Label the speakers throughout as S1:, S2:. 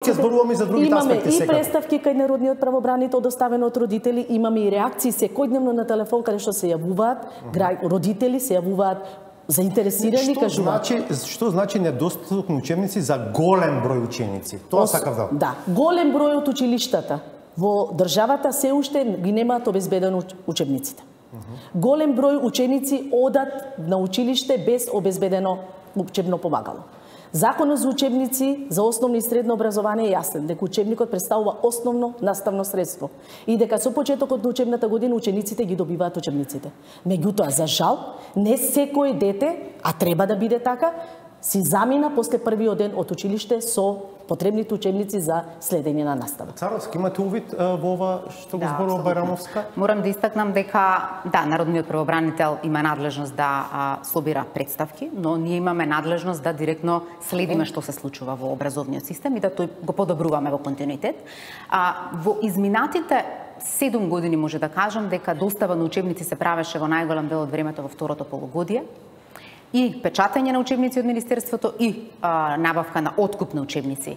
S1: ќе зборуваме за другите аспекти
S2: Имаме
S1: сега.
S2: и представки кај народниот правобранител доставено од родители, имаме и реакции секојдневно на телефон каде што се јавуваат родители, се јавуваат заинтересирани, кажуваат.
S1: Што значи недостаток на учебници за голем број ученици? Тоа сакав да.
S2: Да, голем број од училиштата во државата се уште ги немаат обезбедено учебниците. Голем број ученици одат на училиште без обезбедено учебно помагало. Законот за учебници за основно и средно образование е јасен дека учебникот представува основно наставно средство и дека со почетокот на учебната година учениците ги добиваат учебниците. Меѓутоа, за жал, не секој дете, а треба да биде така, си замина после првиот ден од училиште со потребните учебници за следење на настава.
S1: Царовски, имате увид во ова што го зборува Бајрамовска?
S3: Морам да истакнам дека народниот правобранител има надлежност да собира представки, но ние имаме надлежност да директно следиме што се случува во образовниот систем и да тој го подобруваме во континуитет. Во изминатите 7 години може да кажам дека достава на учебници се правеше во најголем дел од времето во второто полугодие. И печатање на учебници од Министерството и набавка на откуп на учебници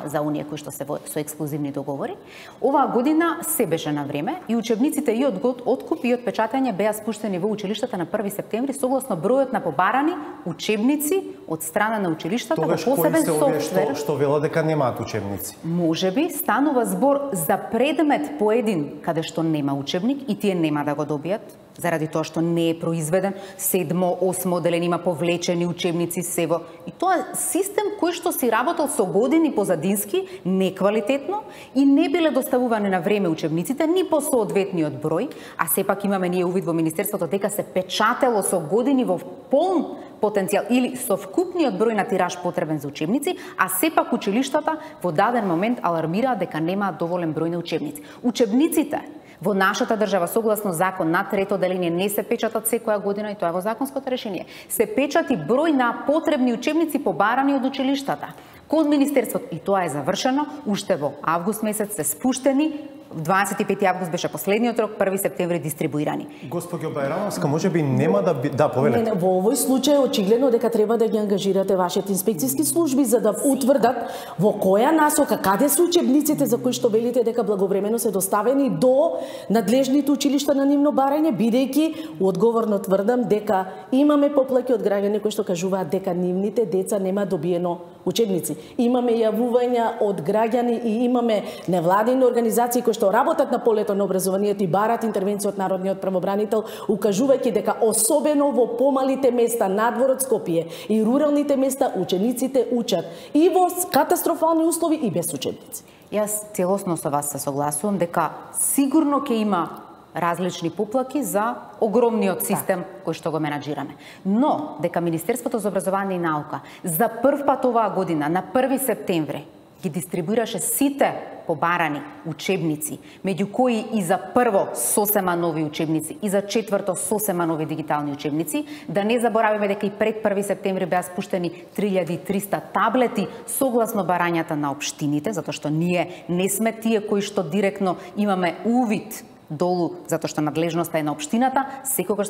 S3: за оние кои што се со ексклузивни договори. Оваа година се беше на време и учебниците и од откуп и од печатање беа спуштени во училиштата на 1 септември согласно бројот на побарани учебници од страна на училиштата во посебен софтвер.
S1: Што велат дека немаат учебници?
S3: Можеби станува збор за предмет поедин каде што нема учебник и тие нема да го добијат заради тоа што не е произведен 7, 8 одделение има повлечени учебници сево. И тоа е систем кој што си работел со години позадински, неквалитетно и не биле доставувани на време учебниците ни по соодветниот број, а сепак имаме ние увид во Министерството дека се печатело со години во полн потенцијал или со вкупниот број на тираж потребен за учебници, а сепак училиштата во даден момент алармираат дека немаат доволен број на учебници. Учебниците во нашата држава согласно закон на трето одделение не се печатат секоја година и тоа е во законското решение. Се печати број на потребни учебници побарани од училиштата кон Министерството и тоа е завршено уште во август месец се спуштени. 25 август беше последниот рок, 1 септември дистрибуирани.
S1: Госпоѓо Бајрамовска, можеби нема да повелете.
S2: Не, во овој случај очигледно дека треба да ги ангажирате вашите инспекциски служби за да утврдат во која насока, каде се учебниците за кои што велите дека благовремено се доставени до надлежните училишта на нивно барање, бидејќи одговорно тврдам дека имаме поплаки од граѓани кои што кажуваат дека нивните деца нема добиено учебници. Имаме јавувања од граѓани и имаме невладини организации кои што работат на полето на образованието и барат интервенција од народниот правобранител, укажувајќи дека особено во помалите места надвор од Скопје и руралните места учениците учат и во катастрофални услови и без учебници.
S3: Јас целосно со вас се согласувам дека сигурно ќе има различни поплаки за огромниот систем кој што го менаџираме. Но дека Министерството за образование и наука за прв пат оваа година на 1 септември ги дистрибуираше сите побарани учебници, меѓу кои и за прво сосема нови учебници и за четврто сосема нови дигитални учебници, да не забораваме дека и пред 1 септември беа спуштени 3300 таблети согласно барањата на општините, затоа што ние не сме тие кои што директно имаме увид долу, затоа што надлежноста е на општината, секогаш